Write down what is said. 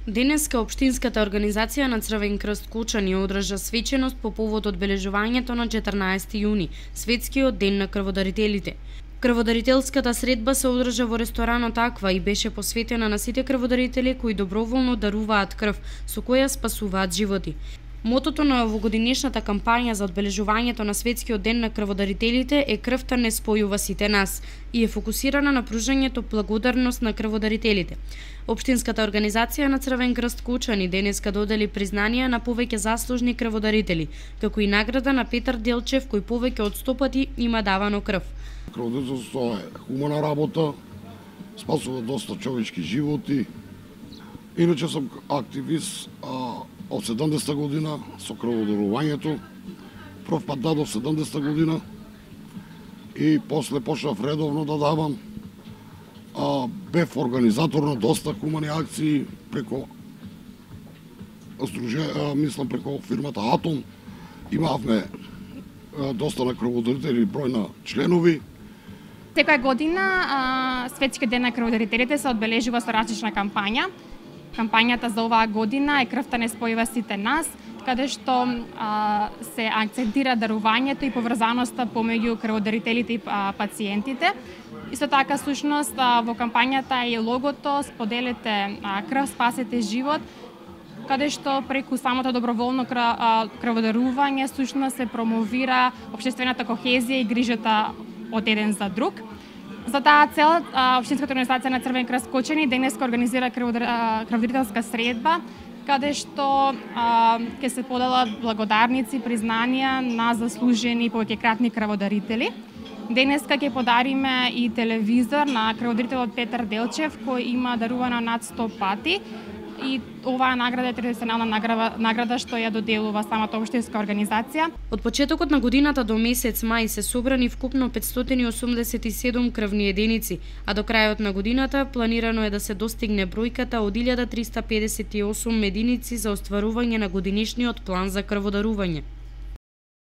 Денеска Општинската организација на Црвен крст Кучани одржа свеченост по повод одбележувањето на 14 јуни, светскиот ден на крводарителите. Крводарителската средба се одржа во ресторанот Аква и беше посветена на сите крводарители кои доброволно даруваат крв, со која спасуваат животи. Мотото на овогодинешната кампања за одбележувањето на светскиот ден на крводарителите е "Крвта не спојува сите нас" и е фокусирана на пружањето благодарност на крводарителите. Општинската организација на Црвен крст Кучани денеска додели признанија на повеќе заслужни крводарители, како и награда на Петар Делчев кој повеќе од 100 пати има давано крв. Крводарителство е хумана работа, спасува доста човечки животи. Иначе сум активист од 70-та година со крводарувањето. Прв пат дадов 70-та година и после почнав редовно да давам. Бев организатор на доста хумани акции преко преко фирмата Атом. Имавме доста на крводарители, број на членови. Секоја година Светскиот ден на крводарителите се одбележува со различна кампања. Кампањата за оваа година е "Крвта не спојува сите нас", каде што се акцентира дарувањето и поврзаноста помеѓу крводарителите и пациентите. Исто така, сушност, во кампањата е и логото "Споделете крв, спасете живот", каде што преку самото доброволно крводарување сушност се промовира општествената кохезија и грижата од еден за друг. За таа цел, Општинската организација на Црвен крст Кучани денеска организира крводарителска средба, каде што ќе се поделат благодарници, признанија на заслужени повеќекратни крводарители. Денеска ќе подариме и телевизор на крводарителот Петар Делчев, кој има дарувано над 100 пати. И оваа награда е традиционална награда што ја доделува самата општинска организација. Од почетокот на годината до месец мај се собрани вкупно 587 крвни единици, а до крајот на годината планирано е да се достигне бројката од 1358 единици за остварување на годинишниот план за крводарување.